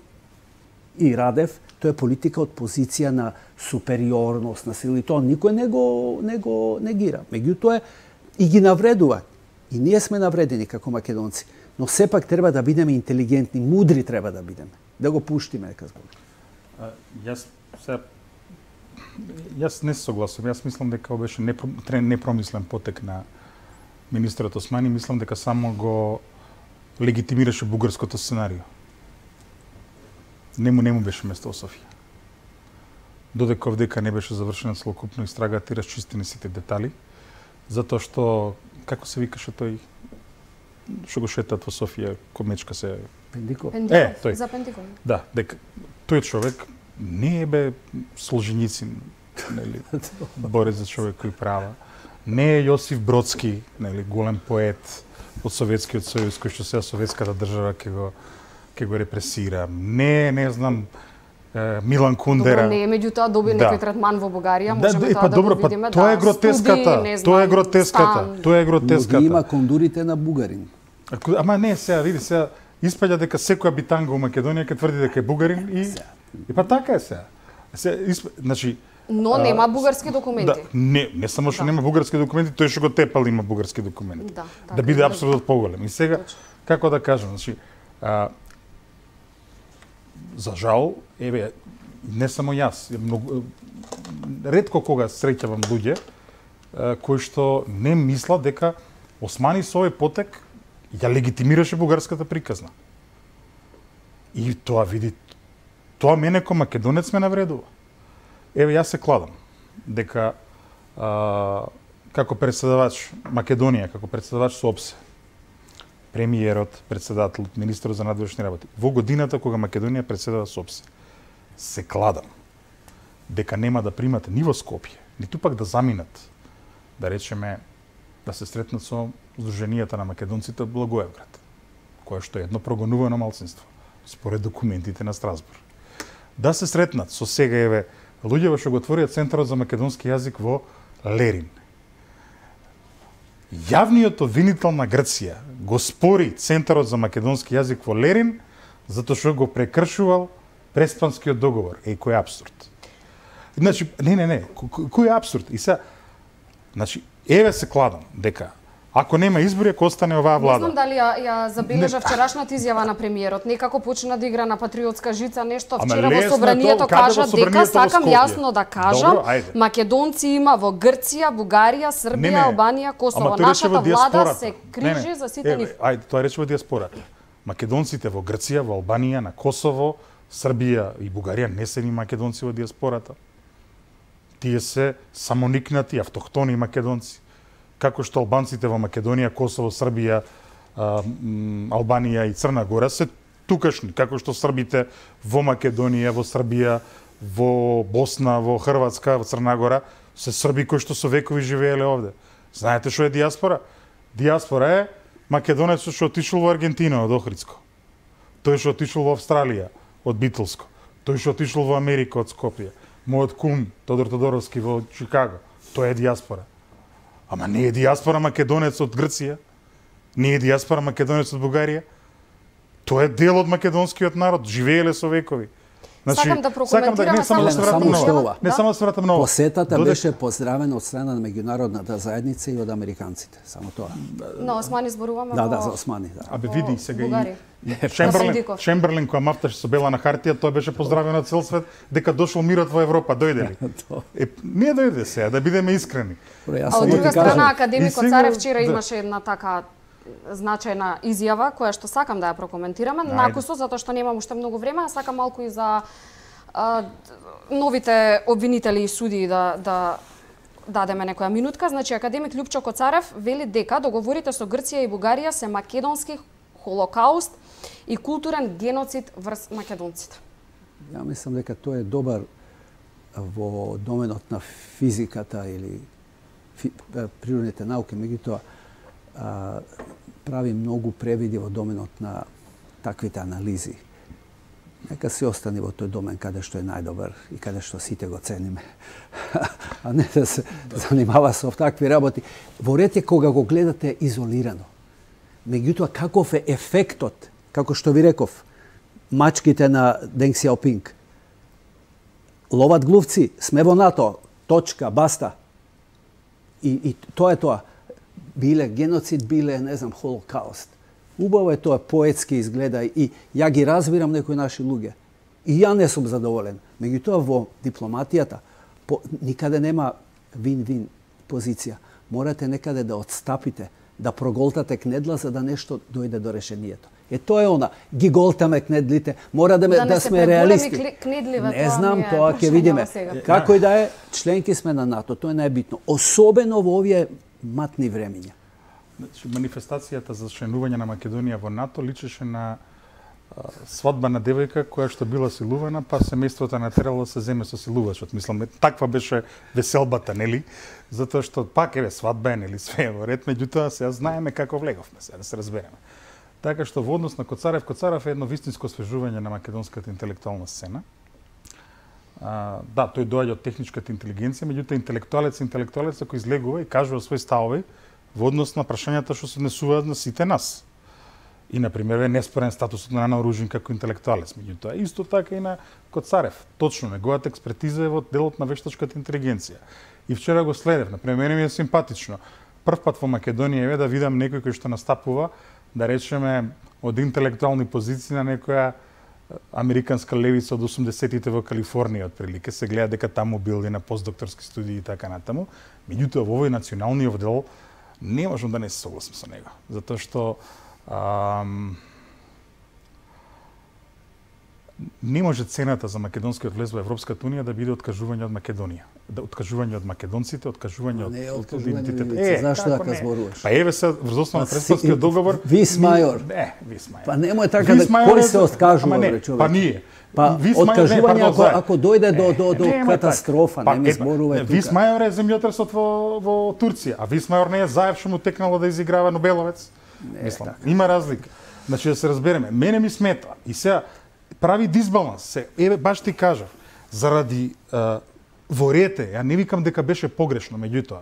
и Радев, тоа е политика од позиција на супериорност, на сили. Тоа никој не го, не го негира. Меѓутоа и ги навредува. И ние сме навредени како македонци. Но сепак треба да бидеме интелигентни, мудри треба да бидеме. Да го пуштиме, нека зборам. Јас се Јас не се согласувам. Јас мислам дека ова беше непромислен потек на министерот Османи. Мислам дека само го легитимираше бугарското сценарио. Не му, не му беше место во Софија. Додека овдека не беше завршена целокупно истрагата и расчистени сите детали, затоа што, како се викаше тој, што го шетат во Софија, комечка се... Пендиков. Е, тој. За Пендиков. Да, дека тој човек не е бе Солженицин, нели, борец за човекови права. Не е Јосиф Бродски, нели, голем поет од Советскиот сојуз, кој што сега советската држава ќе го ќе го репресира. Не, не знам, Милан Кундера. Добро, не е меѓутоа доби да. некој третман во Бугарија, можеме да, тоа па, да добро, го видиме. Па, тоа да, е гротеската, студи, тоа е гротеската, стан. тоа е гротеската. Но ги има кондурите на бугарин. Ама не, сега, види, сега, испаѓа дека секоја битанга во Македонија ќе тврди дека е бугарин и и па така е сега. Се исп... значи но нема бугарски документи. Да, не, не само што да. нема бугарски документи, тој што го тепал има бугарски документи. Да, да, да биде апсолутно поголем. И сега Точно. како да кажам, значи а, за жал, еве не само јас, многу ретко кога среќавам луѓе а, кои што не мислат дека Османи со овој потек ја легитимираше бугарската приказна. И тоа види, тоа мене ко македонец ме навредува. Еве јас се кладам дека а, како председавач Македонија, како председавач со ОПСЕ, премиерот, председателот, министерот за надворешни работи, во годината кога Македонија председава со ОПСЕ, се кладам дека нема да примат ни во Скопје, ниту пак да заминат, да речеме, да се сретнат со Сдруженијата на македонците од Благоевград, кое што е едно прогонувано малцинство, според документите на Страсбург. Да се сретнат со сега еве луѓе што го отворија Центарот за македонски јазик во Лерин. Јавниот обвинител на Грција го спори Центарот за македонски јазик во Лерин затоа што го прекршувал Преспанскиот договор. Еј, кој е абсурд. Значи, не, не, не, кој е абсурд? И се, значи, еве се кладам дека ако нема избори, ако остане оваа влада. Не знам дали ја, ја забележа вчерашната изјава на премиерот. Некако почна да игра на патриотска жица нешто. Вчера во собранието кажа дека сакам јасно да кажам, Добро, македонци има во Грција, Бугарија, Србија, не, не. Албанија, Косово. Нашата влада се крижи не, не. за сите нив. Ајде, тоа рече во диаспората. Македонците во Грција, во Албанија, на Косово, Србија и Бугарија не се ни македонци во диаспората. Тие се самоникнати автохтони македонци. Како што албанците во Македонија, Косово, Србија, Албанија и Црна Гора се тукашни, како што србите во Македонија, во Србија, во Босна, во Хрватска, во Црна Гора се срби кои што со векови живееле овде. Знаете што е диаспора? Диаспора е македонецот што отишол во Аргентина од Охридско. Тој што отишол во Австралија од Битолско. Тој што отишол во Америка од Скопје. Мојот кум Тодор Тодоровски во Чикаго. Тоа е диаспора. Ама не е диаспора македонец од Грција, не е диаспора македонец од Бугарија. Тоа е дел од македонскиот народ, живееле со векови. Значи, сакам да прокоментирам да, не само да се вратам многу. Не само да се вратам многу. Посетата Доде... беше поздравена од страна на меѓународната заедница и од американците, само тоа. Но Османи зборуваме да, во... Да, за Османи, да. Абе види сега Бугарија. и Чемберлен, Чемберлен која мафташе со бела на хартија, тоа беше поздравен од цел свет дека дошол мирот во Европа, дојде ли? Е, не дојде сега, да бидеме искрени. А од друга страна академикот Царев вчера имаше една така значајна изјава која што сакам да ја прокоментираме, накусо затоа што немам уште многу време, а сакам малку и за а, новите обвинители и судии да да дадеме некоја минутка. Значи академик Љупчо Коцарев вели дека договорите со Грција и Бугарија се македонски холокауст и културен геноцид врз македонците. Ја мислам дека тоа е добар во доменот на физиката или фи, природните науки, меѓутоа прави многу превиди во доменот на таквите анализи. Нека се остане во тој домен каде што е најдобар и каде што сите го цениме. А не да се занимава со такви работи. Во ред е кога го гледате изолирано. Меѓутоа, каков е ефектот, како што ви реков, мачките на Ден Ксиаопинг. Ловат глувци, сме во НАТО, точка, баста. И, и тоа е тоа. Биле геноцид, биле, не знам, холокауст. Убаво е тоа, поетски изгледа и ја ги разбирам некои наши луѓе. И ја не сум задоволен. Меѓутоа во дипломатијата по, никаде нема вин-вин позиција. Морате некаде да отстапите, да проголтате кнедла за да нешто дојде до решението. Е тоа е она, ги голтаме кнедлите, мора да, ме, да, да сме реалисти. Кнедливе, не знам, тоа ќе видиме. Како и да е, членки сме на НАТО, тоа е најбитно. Особено во овие матни времиња. Значи, манифестацијата за членување на Македонија во НАТО личеше на а, свадба на девојка која што била силувана, па семејството натерало да се земе со силувачот. Мислам, таква беше веселбата, нели? Затоа што пак еве свадба е, нели, све е во ред, меѓутоа сега знаеме како влеговме, сега да се разбереме. Така што во однос на Коцарев, Коцарев е едно вистинско освежување на македонската интелектуална сцена. А, да, тој доаѓа од техничката интелигенција, меѓутоа интелектуалец интелектуалец кој излегува и кажува своји ставови во однос на прашањата што се однесуваат на сите нас. И, например, е неспорен статусот на Ана Оружин како интелектуалец, меѓутоа исто така и на Коцарев. Точно, неговата експертиза е во делот на вештачката интелигенција. И вчера го следев, например, мене ми е симпатично. Прв пат во Македонија е да видам некој кој што настапува, да речеме, од интелектуални позиции на некоја американска левица од осумдесетите во Калифорнија, отприлике. Се гледа дека таму бил и на постдокторски студии и така натаму. Меѓутоа, во овој националниот дел не можам да не се согласам со него. Затоа што ам, не може цената за македонскиот влез во Европската унија да биде откажување од Македонија. Да, откажување од македонците, откажување од, од идентитет. Е, зашто да зборуваш? Па еве се врз основа на Преспанскиот договор. Вис мајор. Не, вис мајор. Па немој така да кој се откажува, бре, човек. Па ние. Па откажување ако, ако дојде до до до катастрофа, не ми зборувај тука. Вис мајор е земјотресот во во Турција, а Вис мајор не е Заев што му текнало да изиграва Нобеловец. Мислам, има разлика. Значи да се разбереме, мене ми смета и сега прави дисбаланс. Се, еве баш ти кажав, заради а, ворете, ја не викам дека беше погрешно, меѓутоа,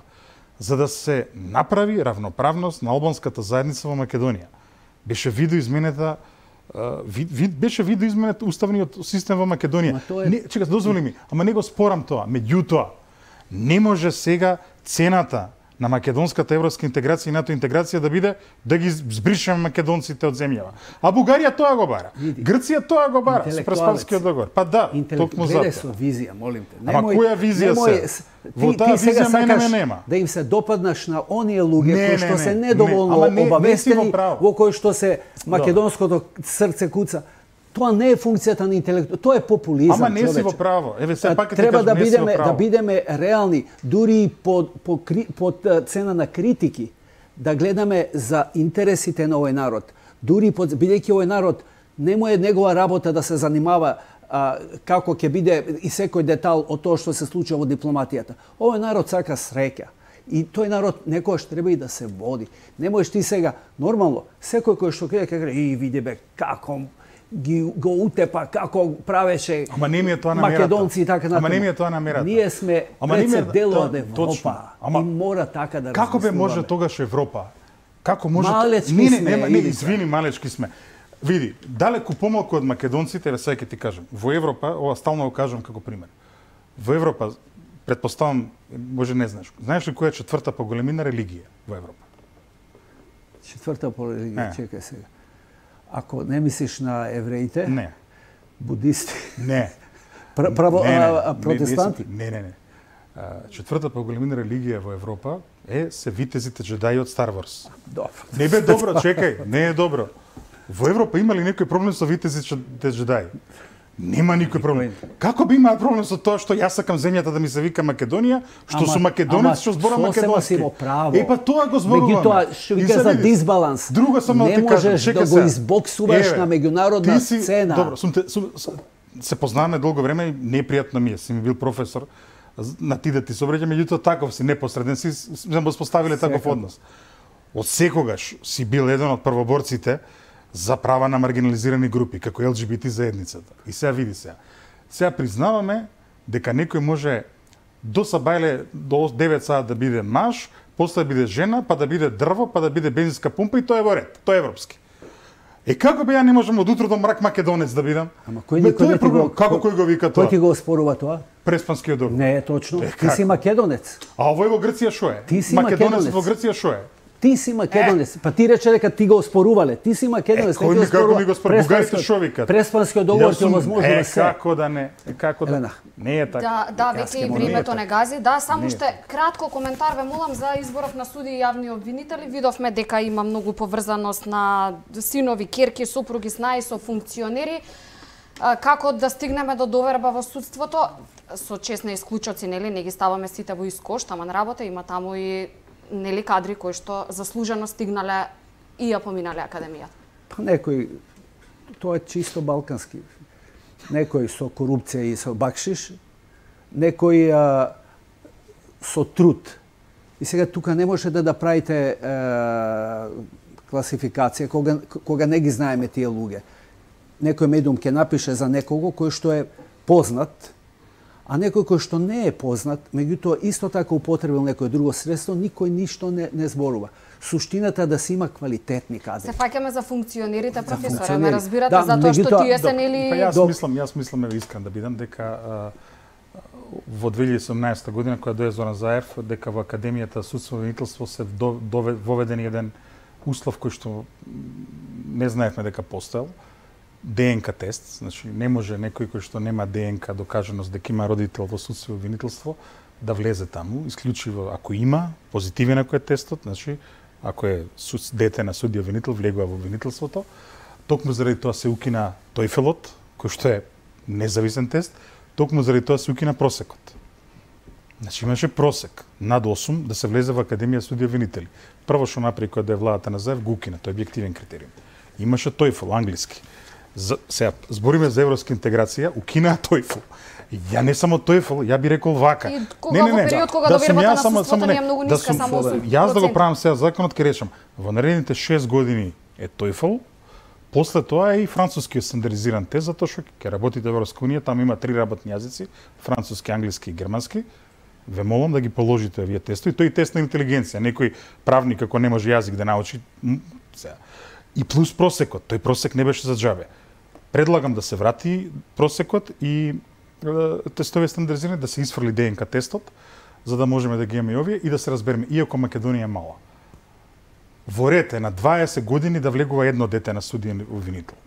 за да се направи равноправност на албанската заедница во Македонија. Беше видоизменета вид, вид, беше видоизменет уставниот систем во Македонија. Е... Не, чека, дозволи ми, ама не го спорам тоа. Меѓутоа, не може сега цената на македонската европска интеграција и НАТО интеграција да биде да ги збришеме македонците од земјава. А Бугарија тоа го бара. Види. Грција тоа го бара со Преспанскиот договор. Па да, токму за тоа. Со визија, молим те. Ама која визија немој, се? Во таа визија мене ме нема. Да им се допаднаш на оние луѓе не, кои што не, се не, недоволно не, обавестени, во кои што се македонското Добре. срце куца. Тоа не е функцијата на интелект, тоа е популизам. Ама не си во право. Еве се пак треба ти кажам, да не си во бидеме право. да бидеме реални, дури под под, под цена на критики, да гледаме за интересите на овој народ. Дури под бидејќи овој народ не му е негова работа да се занимава а, како ќе биде и секој детал од тоа што се случува во дипломатијата. Овој народ сака среќа. И тој народ некојаш треба и да се води. Не можеш ти сега нормално секој кој што ќе каже и види бе како ги го утепа како правеше Ама не ми е тоа намерата. Македонци и така натаму. Ама не ми е тоа намерата. Ние сме пред дел од Европа. Ама и мора така да како бе може размислуваме. тогаш Европа? Како може Малечки не, не, сме, нема, не, Илица. извини, малечки сме. Види, далеку помалку од македонците, ве сега ќе ти кажам. Во Европа, ова стално го кажам како пример. Во Европа, претпоставам, може не знаеш. Знаеш ли која е четврта по големина религија во Европа? Четврта по религија, Не. чекај сега. Ако не мислиш на евреите, Не. будисти, Не. пр- право Не, не, а, а, не, протестанти. Не, не, не. А, четврта по големина религија во Европа е се витезите джедаи од Star Wars. Добро. Не бе добро, чекај, не е добро. Во Европа има ли некој проблем со витезите джедаи? Нема никој проблем. Како би имаа проблем со тоа што јас сакам земјата да ми се вика Македонија, што Ама- сум македонец, што зборам ама сосема македонски? си во право. Е па тоа го зборуваме. Меѓутоа, што И вика се за види. дисбаланс. Друго само да не ти кажам, можеш чекај да го сега. избоксуваш Еве, на меѓународна ти си- сцена. Добро, сум те, сум, с- се познаваме долго време и непријатно ми е, си ми бил професор на ти да ти се обраќам, меѓутоа таков си непосреден си сме го споставиле таков Секако. однос. Од секогаш си бил еден од првоборците за права на маргинализирани групи, како Ел Џи Би Ти заедницата. И сега види сега. Сега признаваме дека некој може до сабајле до девет саат да биде маж, после да биде жена, па да биде дрво, па да биде бензинска пумпа и тоа е во ред. Тоа е европски. Е како бе ја не можам од утро до мрак македонец да бидам? Ама кој Ме, никој тоа не е ти проблем. го Како кој го вика Кој тоа? ти го оспорува тоа? Преспанскиот договор. Не е точно. Е, Ти како? си македонец. А овој во Грција шо е? Ти си Македонец македонец. во Грција шо е? Ти си македонец. Па ти рече дека ти го оспорувале. Ти си македонец. Е, кој ми- како ми го оспорува? Бугарите шо викат? Преспанскиот договор Јас ти сум- овозможува Е, се. како да не? Е, како да? Елена. Не е така. Да, да, Јас веќе ќе и му- времето не не е гази. Да, само Не е уште кратко коментар ве молам за изборов на суди и јавни обвинители. Видовме дека има многу поврзаност на синови, ќерки, сопруги, снаи со функционери. А, Како да стигнеме до доверба во судството? Со честни исклучоци, нели, не ги ставаме сите во ист кош, тама на работа има таму и нели кадри кои што заслужено стигнале и ја поминале академијата. Па некој, тоа е чисто балкански. Некој со корупција и со бакшиш, некој а, со труд. И сега тука не може да да правите а, класификација кога, кога не ги знаеме тие луѓе. Некој медиум ќе напише за некого кој што е познат, а некој кој што не е познат, меѓутоа исто така употребил некој друго средство, никој ништо не, не зборува. Суштината е да се има квалитетни кадри. Се фаќаме за функционерите, професоре, функционери. ме разбирате, Да, затоа што меѓутоа, тие се до- нели... Па јас Док- мислам, јас мислам еве искрен да бидам дека а, во две илјади и седумнаесета година кога дое Зоран Заев, дека во Академијата судство и обвинителство се до- дове- воведен еден услов кој што м, не знаевме дека постоел, ДНК тест, значи не може некој кој што нема ДНК докажаност дека има родител во судство и обвинителство да влезе таму, исклучиво ако има позитивен ако е тестот, значи ако е суд, дете на судија обвинител влегува во обвинителството, токму заради тоа се укина тојфелот, кој што е независен тест, токму заради тоа се укина просекот. Значи имаше просек над осум да се влезе во Академија судија обвинители. Прво што направи кога да е владата на Заев го укина, тој е објективен критериум. Имаше тојфел англиски. За, сега, збориме за европска интеграција, укинаа тојфл. Ја не само тојфл, ја би рекол вака. И кога не, не, не, во период кога да довербата на суството не е многу ниска, да само осум проценти. Јас да го правам сега законот, ке речам, во наредните шест години е тојфл, после тоа е и францускиот стандардизиран тест, затоа што ќе работите во Европска унија, таму има три работни јазици, француски, англиски и германски. Ве молам да ги положите овие тестови. Тој тест на интелигенција, некој правник ако не може јазик да научи, сега. И плюс просекот, тој просек не беше за џабе. Предлагам да се врати просекот и е, тестови стандардизирани, да се исфрли ДНК тестот, за да можеме да ги имаме и овие и да се разбереме, иако Македонија е мала. Во ред е на дваесет години да влегува едно дете на судиен обвинител.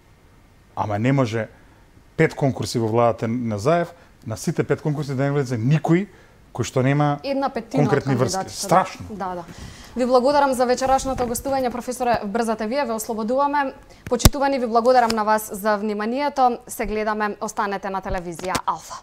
Ама не може пет конкурси во владата на Заев, на сите пет конкурси да не влезе никој кој што нема една петтина конкретни врски. Страшно. Да, да. Ви благодарам за вечерашното гостување, професоре, брзате вие, ве ослободуваме. Почитувани, ви благодарам на вас за вниманието. Се гледаме, останете на телевизија Алфа.